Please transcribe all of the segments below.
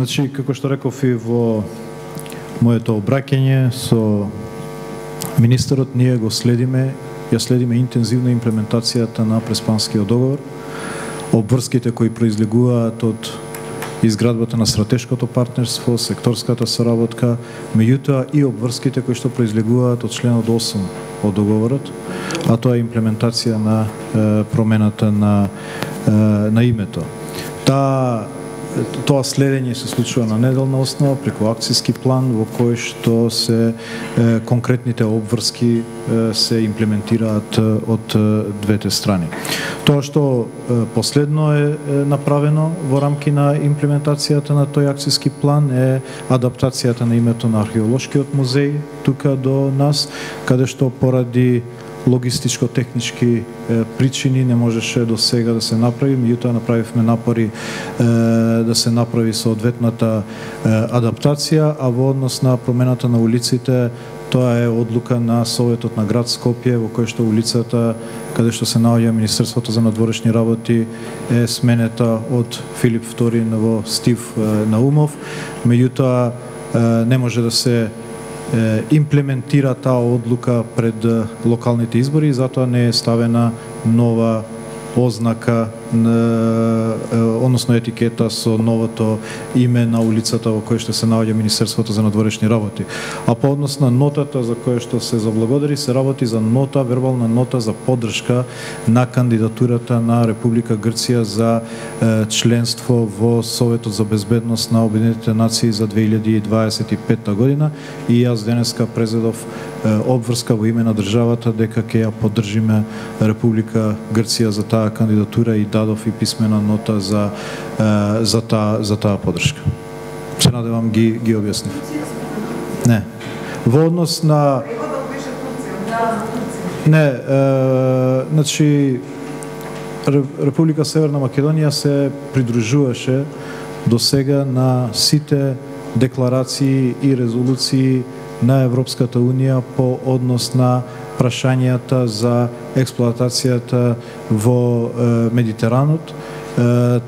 Значи, како што реков и во моето обраќање со министерот, ние го следиме, ја следиме интензивно имплементацијата на Преспанскиот договор, обврските кои произлегуваат од изградбата на стратешкото партнерство, секторската соработка, меѓутоа и обврските кои што произлегуваат од членот 8 од договорот, а тоа е имплементација на промената на името. Тоа следење се случува на неделна основа преку акцијски план во кој што се конкретните обврски се имплементираат од двете страни. Тоа што последно е направено во рамки на имплементацијата на тој акцијски план е адаптацијата на името на археолошкиот музеј тука до нас, каде што поради логистичко-технички причини не можеше до сега да се направи, меѓутоа направивме напори да се направи соодветната адаптација, а во однос на промената на улиците, тоа е одлука на Советот на град Скопје, во кој што улицата каде што се наоѓа Министерството за надворешни работи е сменета од Филип II во Стив Наумов, меѓутоа не може да се имплементира таа одлука пред локалните избори и затоа не е ставена нова ознака, односно етикета со новото име на улицата во која што се наоѓа Министерството за надворешни работи. А по однос на нотата за која што се заблагодари, се работи за нота, вербална нота за поддршка на кандидатурата на Република Грција за членство во Советот за безбедност на Обединетите нации за 2025 година и јас денеска презедов обврска во име на државата дека ќе ја поддржиме Република Грција за таа кандидатура и дадов и писмена нота за таа поддршка. Се надевам ги објаснив. Не. Во однос на не, значи Република Северна Македонија се придружуваше до сега на сите декларации и резолуции на Европската Унија по однос на прашањата за експлоатацијата во Медитеранот,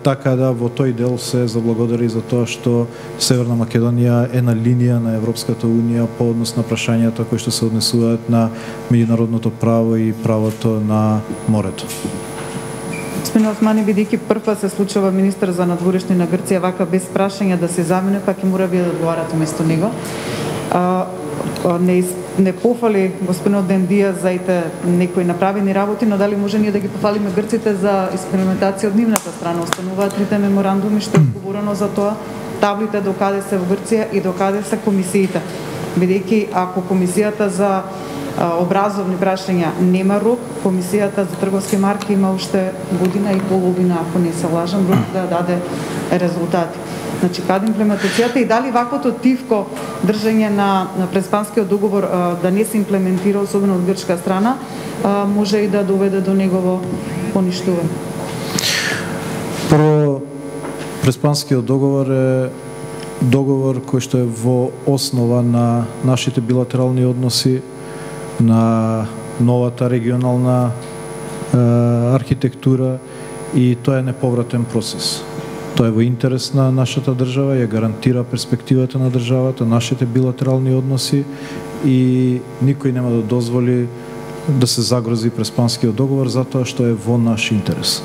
така да во тој дел се заблагодари за тоа што Северна Македонија е на линија на Европската Унија по однос на прашањата кои што се однесуваат на меѓународното право и правото на морето. Господин Османи, бидејќи прв се случува министер за надворешни на Грција вака без прашања да се замене, па ќе мора вие да одговарате место него. Не пофали господинот Дендија за некои направени работи, но дали може ние да ги пофалиме грците за експериментација од нивната страна? Остануваат трите меморандуми што е говорено за тоа, таблите докаде се во Грција и докаде се комисиите. Бидејќи ако комисијата за образовни прашања нема рок, комисијата за трговски марки има уште година и половина, ако не се лажам, рок да даде резултати. Значи, каде имплементацијата и дали ваквото тивко држање на Преспанскиот договор да не се имплементира, особено од грчка страна, може и да доведе до негово поништување? Прво, Преспанскиот договор е договор кој што е во основа на нашите билатерални односи, на новата регионална архитектура и тоа е неповратен процес. Тоа е во интерес на нашата држава, ја гарантира перспективата на државата, нашите билатерални односи и никој нема да дозволи да се загрози Преспанскиот договор затоа што е во наш интерес.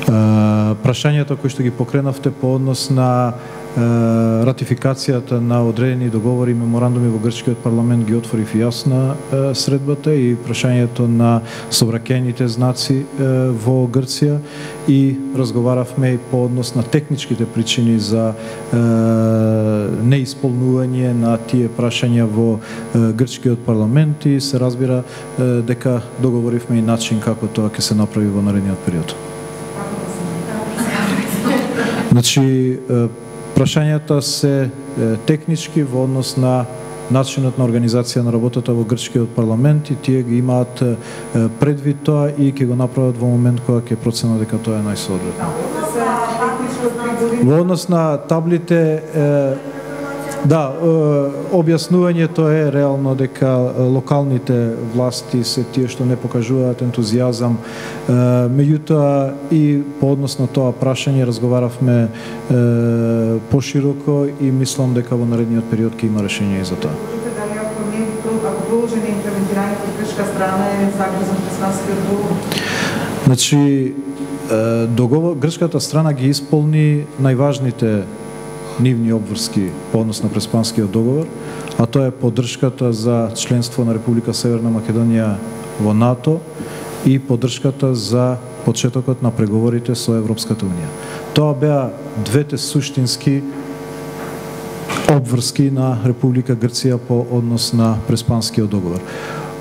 Прашањата кои што ги покренавте по однос на ратификацијата на одредени договори и меморандуми во грчкиот парламент ги отворив јасна средбата и прашањето на собраќајните знаци во Грција и разговаравме и по однос на техничките причини за неисполнување на тие прашања во грчкиот парламент и се разбира дека договоривме и начин како тоа ќе се направи во наредниот период. Значи, прашањата се технички во однос на начинот на организација на работата во грчкиот парламент и тие ги имаат предвид тоа и ќе го направат во момент кога ќе проценат дека тоа е најсоодветно. Во однос на таблите Да, објаснувањето е реално дека локалните власти се тие што не покажуваат ентузијазам. Меѓутоа и по однос на тоа прашање разговаравме пошироко и мислам дека во наредниот период ќе има решение и за тоа. Дали ако продолжи имплементирањето од грчка страна е загрозен преспанскиот договор? Значи, грчката страна ги исполни најважните нивни обврски по однос на преспанскиот договор, а тоа е поддршката за членство на Република Северна Македонија во НАТО и поддршката за почетокот на преговорите со Европската унија. Тоа беа двете суштински обврски на Република Грција по однос на преспанскиот договор.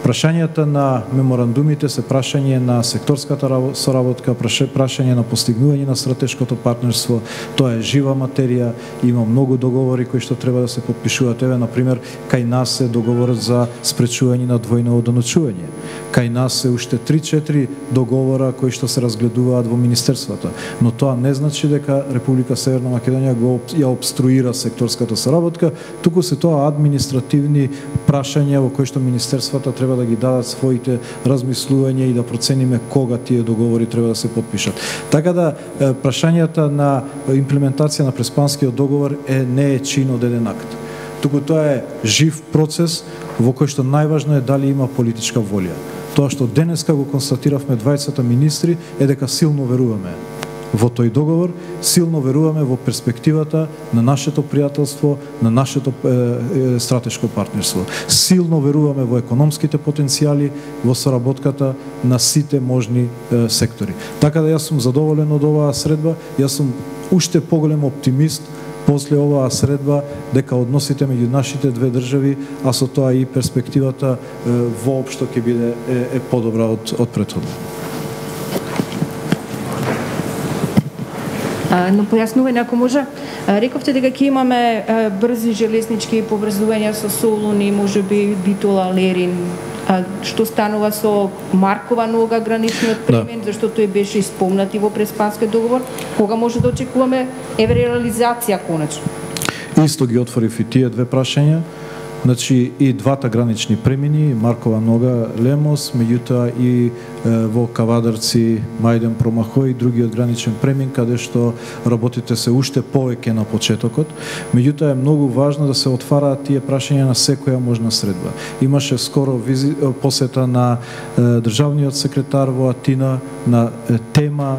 Прашањата на меморандумите се прашање на секторската соработка, прашање на постигнување на стратешкото партнерство. Тоа е жива материја, има многу договори кои што треба да се подпишуваат. Еве, например, кај нас е договорот за спречување на двојно одоночување. Кај нас е уште 3-4 договора кои што се разгледуваат во министерствата. Но тоа не значи дека Република Северна Македонија ја обструира секторската соработка, туку се тоа административни прашања во кои што министерствата треба да ги дадат своите размислувања и да процениме кога тие договори треба да се подпишат. Така да прашањата на имплементација на преспанскиот договор не е чин од еден акт. Туку тоа е жив процес во кој што најважно е дали има политичка волја. Тоа што денеска го констатиравме двајцата министри е дека силно веруваме во тој договор, силно веруваме во перспективата на нашето пријателство, на нашето стратешко партнерство. Силно веруваме во економските потенцијали, во соработката на сите можни сектори. Така да јас сум задоволен од оваа средба, јас сум уште поголем оптимист после оваа средба дека односите меѓу нашите две држави, а со тоа и перспективата воопшто ќе биде подобра од претходно. Но појаснување ако може, рековте дека ќе имаме брзи железнички поврзувања со Солун и можеби Битола, Лерин. Што станува со Маркова нога, граничниот премен, зашто тој беше исполнет и во преспанскиот договор? Кога може да очекуваме реализација конечно? Исто ги отворив и тие две прашања. Значи и двата гранични премини, Маркова нога, Лемос, меѓутоа и во Кавадарци, Мајден, Промахој и другиот граничен премин, каде што работите се уште повеќе на почетокот. Меѓутоа е многу важно да се отвараат тие прашања на секоја можна средба. Имаше скоро посета на државниот секретар во Атина на тема,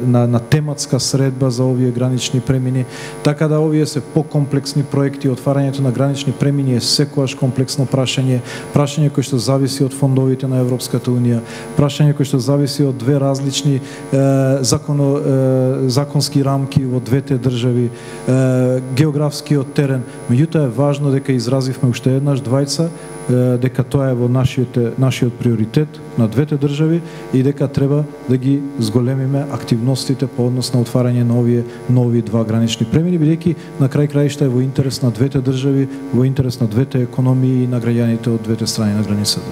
на тематска средба за овие гранични премини, така да овие се покомплексни проекти. Отварањето на гранични премини е секојаш комплексно прашање кој што зависи од фондовите на Европската унија, прашање кој што зависи од две различни законски рамки во двете држави, географскиот терен. Меѓутоа е важно дека изразивме уште еднаш двајца дека тоа е во нашиот приоритет на двете држави и дека треба да ги зголемиме активностите по однос на отварање на овие нови два гранични премини, бидејќи на крај краишта е во интерес на двете држави, во интерес на двете економии и на граѓаните од двете страни на границата.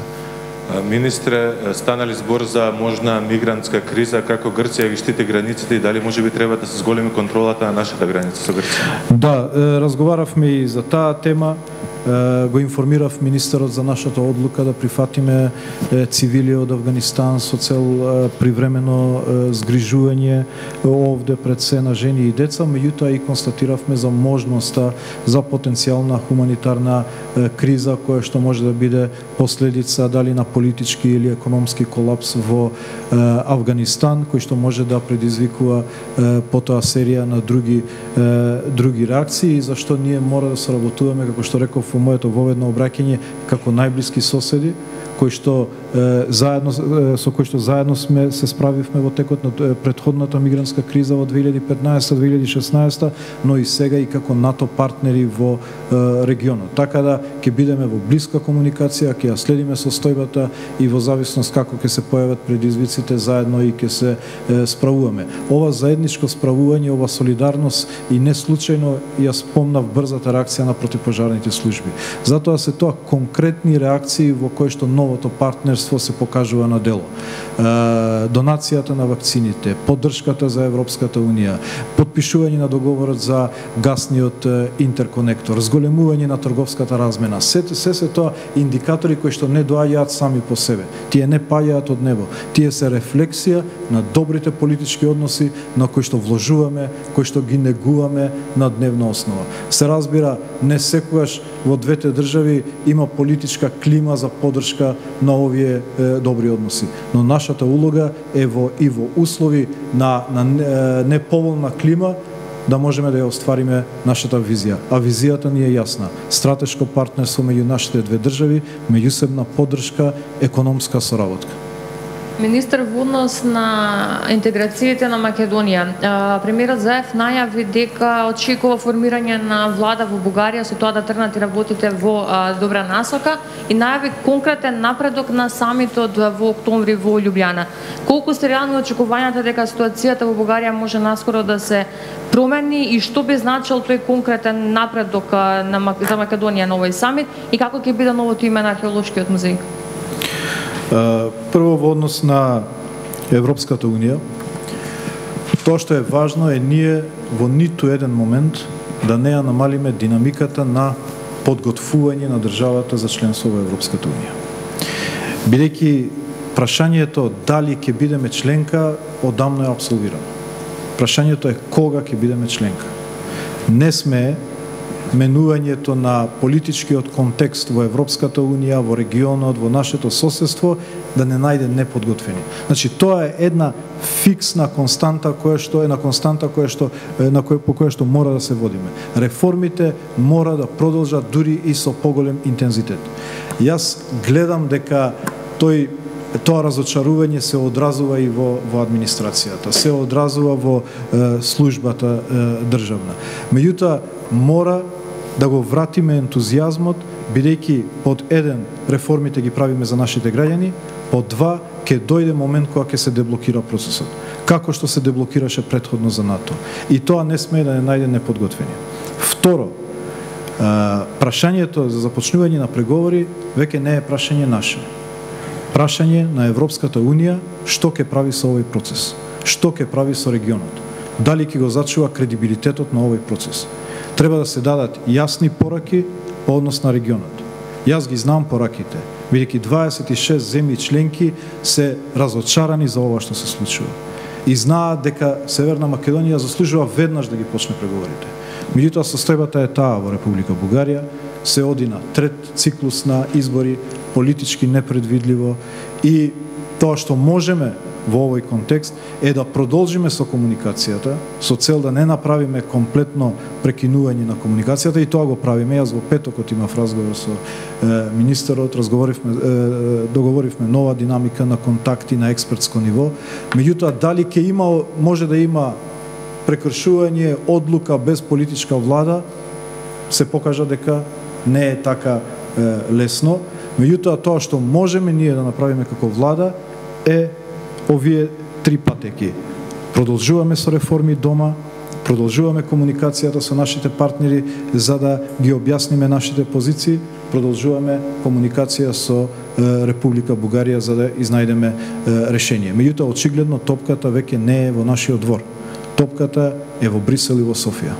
Министре, стана ли збор за можна мигрантска криза, како Грција ги штити границите и дали можеби треба да се зголеми контролата на нашата граница со Грција? Да, разговаравме и за таа тема. Го информирав министерот за нашата одлука да прифатиме цивили од Авганистан со цел привремено згрижување овде пред се на жени и деца, меѓутоа и констатиравме за можноста за потенцијална хуманитарна криза која што може да биде последица дали на политички или економски колапс во Авганистан, кој што може да предизвикува потоа серија на други реакции, зашто ние мора да соработуваме, како што реков во моето воведно обраќање, како најблиски соседи, со кој што заедно се справивме во текот на претходната мигрантска криза во 2015-2016, но и сега и како НАТО партнери во регионот. Така да ќе бидеме во блиска комуникација, ќе ја следиме состојбата и во зависност како ќе се појават предизвиците заедно и ќе се справуваме. Ова заедничко справување, ова солидарност и не случајно ја спомнав брзата реакција на противпожарните служби. Затоа се тоа конкретни реакции во кои што новото партнерство партнерство се покажува на дело. Донацијата на вакцините, поддршката за Европската Унија, подпишување на договорот за гасниот интерконектор, зголемување на трговската размена. Се тоа индикатори кои што не доаѓаат сами по себе. Тие не паѓаат од небо. Тие се рефлексија на добрите политички односи на кои што вложуваме, кои што ги негуваме на дневна основа. Се разбира, не секогаш во двете држави има политичка клима за поддршка на овие добри односи. Но нашата улога е во услови на неповолна клима да можеме да ја оствариме нашата визија. А визијата ни е јасна. Стратешко партнерство меѓу нашите две држави, меѓусебна поддршка, економска соработка. Министер, во однос на интеграциите на Македонија, премиерот Заев најави дека очекува формирање на влада во Бугарија со тоа да тргнат и работите во добра насока и најави конкретен напредок на самитот во октомври во Љубљана. Колку се реални очекувањата дека ситуацијата во Бугарија може наскоро да се промени и што би значил тој конкретен напредок за Македонија на овој самит и како ќе биде новото име на археолошкиот музеј? Прво во однос на Европската Унија, тоа што е важно е ние во ниту еден момент да не ја намалиме динамиката на подготвување на државата за членство во Европската Унија. Бидејќи прашањето дали ќе бидеме членка одамно е апсолвирано. Прашањето е кога ќе бидеме членка. Не сме менувањето на политичкиот контекст во Европската Унија, во регионот, во нашето соседство, да не најде неподготвени. Значи, тоа е една фиксна константа по која што мора да се водиме. Реформите мора да продолжат дури и со поголем интензитет. Јас гледам дека тоа разочарување се одразува и во администрацијата, се одразува во службата државна. Меѓутоа, мора да го вратиме ентузијазмот, бидејќи под еден реформите ги правиме за нашите граѓани, под два ќе дојде момент кога ќе се деблокира процесот. Како што се деблокираше претходно за НАТО. И тоа не сме да не најде неподготвени. Второ, прашањето за започнување на преговори веќе не е прашање наше. Прашање на Европската Унија што ќе прави со овој процес, што ќе прави со регионот, дали ќе го зачува кредибилитетот на овој процес. Треба да се дадат јасни пораки по однос на регионот. Јас ги знам пораките, бидејќи 26 земји членки се разочарани за ова што се случува. И знаат дека Северна Македонија заслужува веднаш да ги почне преговорите. Меѓутоа, состојбата е таа во Република Бугарија, се оди на трет циклус на избори, политички непредвидливо, и тоа што можеме во овој контекст е да продолжиме со комуникацијата, со цел да не направиме комплетно прекинување на комуникацијата, и тоа го правиме. Јас во петокот имав разговор со министерот, договоривме нова динамика на контакти на експертско ниво. Меѓутоа, дали може да има прекршување одлука без политичка влада, се покажа дека не е така лесно. Меѓутоа, тоа што можеме ние да направиме како влада е овие три патеки. Продолжуваме со реформи дома, продолжуваме комуникацијата со нашите партнери за да ги објасниме нашите позиции, продолжуваме комуникација со Република Бугарија за да изнајдеме решение. Меѓутоа, очигледно топката веќе не е во нашиот двор. Топката е во Брисел и во Софија.